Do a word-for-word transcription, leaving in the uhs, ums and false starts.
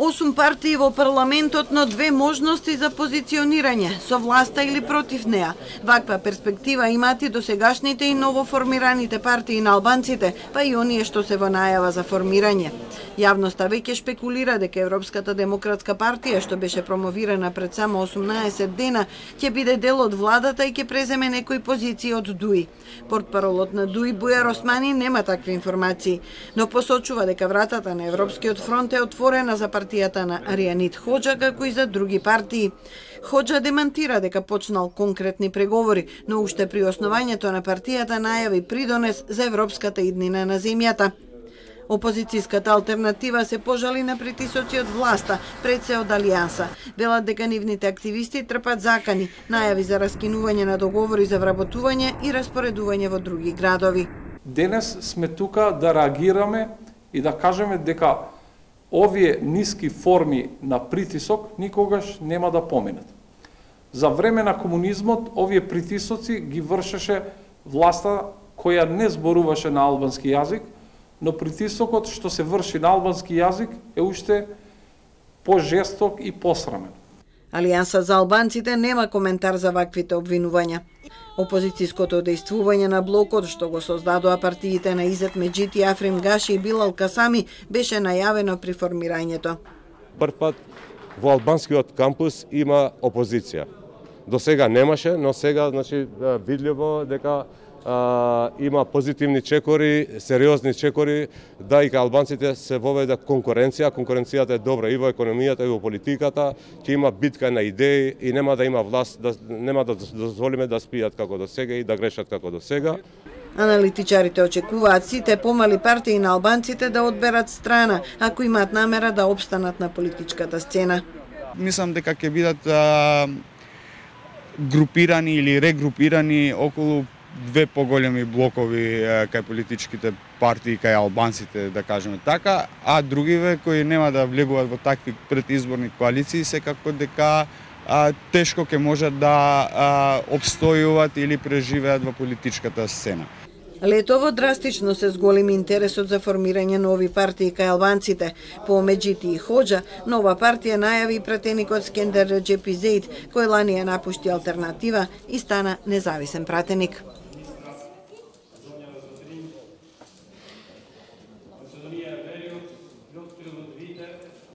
Осум партии во парламентот, но две можности за позиционирање, со власта или против неа. Ваква перспектива имаат и досегашните и новоформираните партии на албанците, па и оние што се во најава за формирање. Јавноста веќе шпекулира дека Европската демократска партија, што беше промовирана пред само осумнаесет дена, ќе биде дел од владата и ќе преземе некои позиции од ДУИ. Портпаролот на ДУИ Бујар Османи нема такви информации, но посочува дека вратата на Европскиот фронт е отворена за партијата на Аријанит Хоџа, како и за други партии. Хоџа демантира дека почнал конкретни преговори, но уште при основањето на партијата најави придонес за европската иднина на земјата. Опозицијската алтернатива се пожали на притисоци од власта, пред се од Алијанса. Велат дека нивните активисти трпат закани, најави за раскинување на договори за вработување и распоредување во други градови. Денес сме тука да реагираме и да кажеме дека овие ниски форми на притисок никогаш нема да поминат. За време на комунизмот овие притисоци ги вршеше власта која не зборуваше на албански јазик, но притисокот што се врши на албански јазик е уште пожесток и посрамен. Алијанса за албанците нема коментар за ваквите обвинувања. Опозицијското дејствување на блокот што го создадоа партиите на Изет Меджити, Африм Гаши и Билал Касами беше најавено при формирањето. Прв пат во албанскиот кампус има опозиција. До сега немаше, но сега значи видливо дека а, има позитивни чекори, сериозни чекори, да и албанците се воведе конкуренција. Конкуренцијата е добра и во економијата, и во политиката, ќе има битка на идеи и нема да има власт, да, нема да дозволиме да спијат како до сега и да грешат како до сега. Аналитичарите очекуваат сите помали партии на албанците да одберат страна, ако имаат намера да опстанат на политичката сцена. Мислам дека ќе бидат а, групирани или регрупирани околу две поголеми блокови кај политичките партии, кај албанците, да кажеме така, а другиве кои нема да влегуваат во такви предизборни коалиции, секако дека а, тешко ќе можат да а, обстојуваат или преживеат во политичката сцена. Летово драстично се зголеми интересот за формирање нови партии кај албанците. По Меджити и Хоџа, нова партија најави пратеникот Скендер Реџеп Зејд, кој лани ја напушти алтернатива и стана независен пратеник.